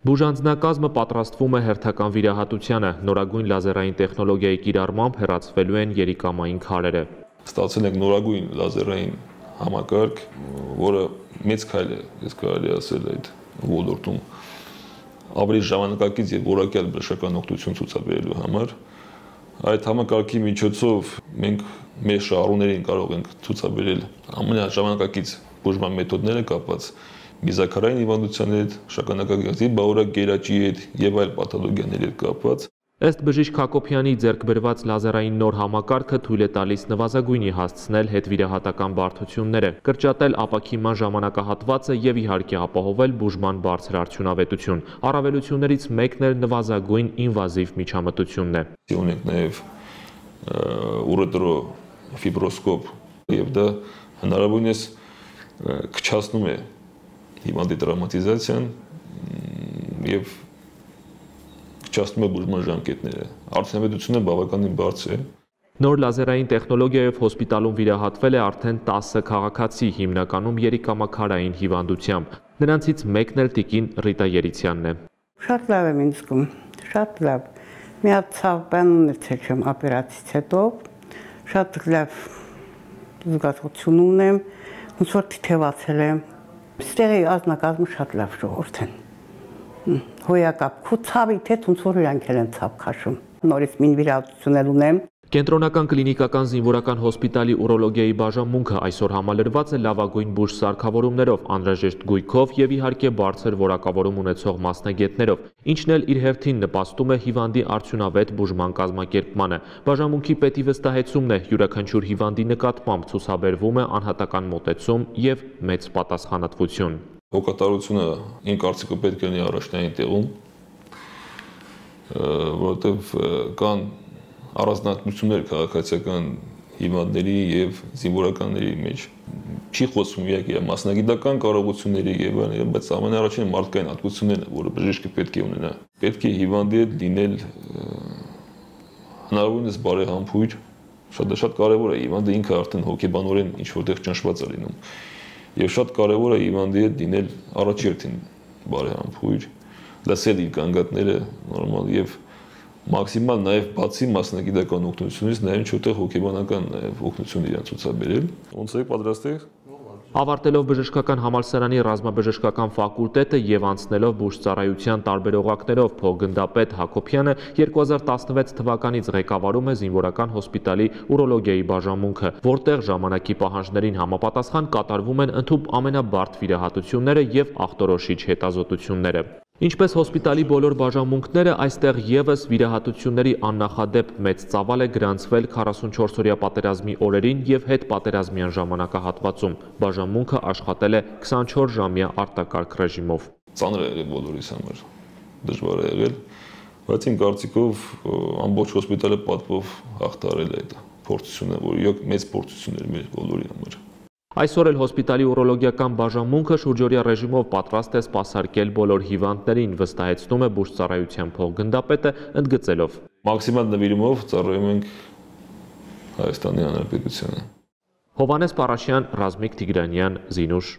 Բուժանձնակազմը պատրաստվում է հերթական վիրահատությանը, նորագույն լազերային տեխնոլոգիայի կիրառմամբ հեռացվելու են երիկամային քարերը։ Ստացել ենք նորագույն լազերային համակարգ, որը մեծ քայլ է, ես կարելի ասել այդ ոլորտում ավելի ժամանակակից եւ որակյալ բժշկական օգնություն ցուցաբերելու համար։ Այդ համակարգի միջոցով մենք մեր շահառուներին կարող ենք ցուցաբերել ամենաժամանակակից բուժման մեթոդները կապված միզաքարային հիվանդության հետ, շագանակագեղձի բաղօրակ գերաճի հետ եւ այլ պաթոլոգիաների հետ կապված։ Ըստ բժիշկ Հակոբյանի ձեռք բերված լազերային նոր համակարգը թույլ է տալիս նվազագույնի հասցնել հետվիրահատական բարդությունները, կրճատել ապակիման ժամանակահատվածը եւ իհարկե ապահովել բուժման բարձր արդյունավետություն։ Առավելություններից մեկն էլ նվազագույն ինվազիվ միջամտությունն է։ Ունենք նաեւ ուրետրոֆիբրոսկոպ եւ դա հնարավորինս քչացնում է հիվանդի տրավմատիզացիան եւ քչացնում է բուժման ժամկետները։ Արդյունավետությունը բավականին բարձր է։ Նոր լազերային տեխնոլոգիայով հոսպիտալում վիրահատվել է արդեն 10 քաղաքացի, հիմնականում երիկամաքարային հիվանդությամբ։ Նրանցից մեկն էլ տիկին Ռիտա Երիցյանն է։ Շատ լավ եմ ինձ զգում, շատ լավ։ Մի հատ ցավ բան ունեցել եմ օպերացիից հետո, շատ լավ զգացություն ունեմ, ոնց որ թիթևացել եմ։ Ստեղի ազնագազմը շատ լավ ժողովուրդ են։ Հոյակապ, քո ցավի թե ոնց որ իրանք են ցավ քաշում։ Նորից մին վիրահատություններ ունեմ։ Կենտրոնական կլինիկական զինվորական հոսպիտալի ուրոլոգիայի բաժանմունքը այսօր համալրված է լավագույն բուժ սարքավորումներով, անհրաժեշտ գույքով եւ իհարկե բարձր որակավորում ունեցող մասնագետներով, ինչն էլ իր հերթին նպաստում է հիվանդի արդյունավետ բուժման կազմակերպմանը։ Բաժանմունքի պետի վստահեցումն է, յուրաքանչյուր հիվանդի նկատմամբ ցուցաբերվում է անհատական մոտեցում եւ մեծ պատասխանատվություն։ Հոգատարությունը իմ կարծիքով պետք է լինի առաջնային տեղում, որովհետեւ կան առանձնահատկություններ քաղաքացիական հիվանդների եւ զինվորականների մեջ չի խոսվում իհարկե մասնագիտական կարողությունների եւ այլն, բայց ամենաառաջին մարդկային հատկություններն, որը բժիշկը պետք է ունենա։ Պետք է հիվանդի հետ լինել հնարավորինս բարեհամբույր, շատ կարեւոր է հիվանդը ինքը արդեն հոգեբանորեն ինչ որտեղ ճնշված է լինում։ Եվ շատ կարեւոր է հիվանդի հետ լինել առաջերտին բարեհամբույր, լսել իր կանգատները նորմալ եւ մաքսիմալ նաև բացի մասնագիտական օգնությունից նաև ինչ-որ հոգեբանական օգնություն իրան ցուցաբերել։ Ոնց եք պատրաստեք։ Ավարտելով բժշկական համալսարանի ռազմաբժշկական ֆակուլտետը եւ անցնելով բուժծառայության տարբեր օղակներով փոխգնդապետ Հակոբյանը 2016 թվականից ղեկավարում է զինվորական հոսպիտալի ուրոլոգիայի բաժանմունքը, որտեղ ժամանակի պահանջներին համապատասխան կատարվում են ընդհուպ ամենաբարդ վիրահատությունները եւ ախտորոշիչ հետազոտությունները։ Ինչպես հոսպիտալի բոլոր բաժանմունքները, այստեղ եւս վիրահատությունների աննախադեպ մեծ ծավալ է գրանցվել 44-օրյա պատերազմի օրերին եւ հետպատերազմյան ժամանակահատվածում։ Բաժանմունքը աշխատել է 24-ժամյա արտակարգ ռեժիմով։ Ծանր է եղել բոլորիս համար, դժվար է եղել, բայց իմ կարծիքով ամբողջ հոսպիտալը պատվով հաղթահարել է այդ փորձությունը, որը մեծ փորձություն էր մեր բոլորի համար։ Այսօր էլ հոսպիտալի ուրոլոգիական բաժանմունքը շուրջօրյա ռեժիմով պատրաստ է սպասարկել բոլոր հիվանդներին, վստահեցնում է բուժծառայության փոխգնդապետը, ընդգծելով. Մաքսիմալ նվիրումով ծառայում ենք Հայաստանի Հանրապետությանը։ Հովհաննես Պարաշյան, Ռազմիկ Տիգրանյան, Զինուշ։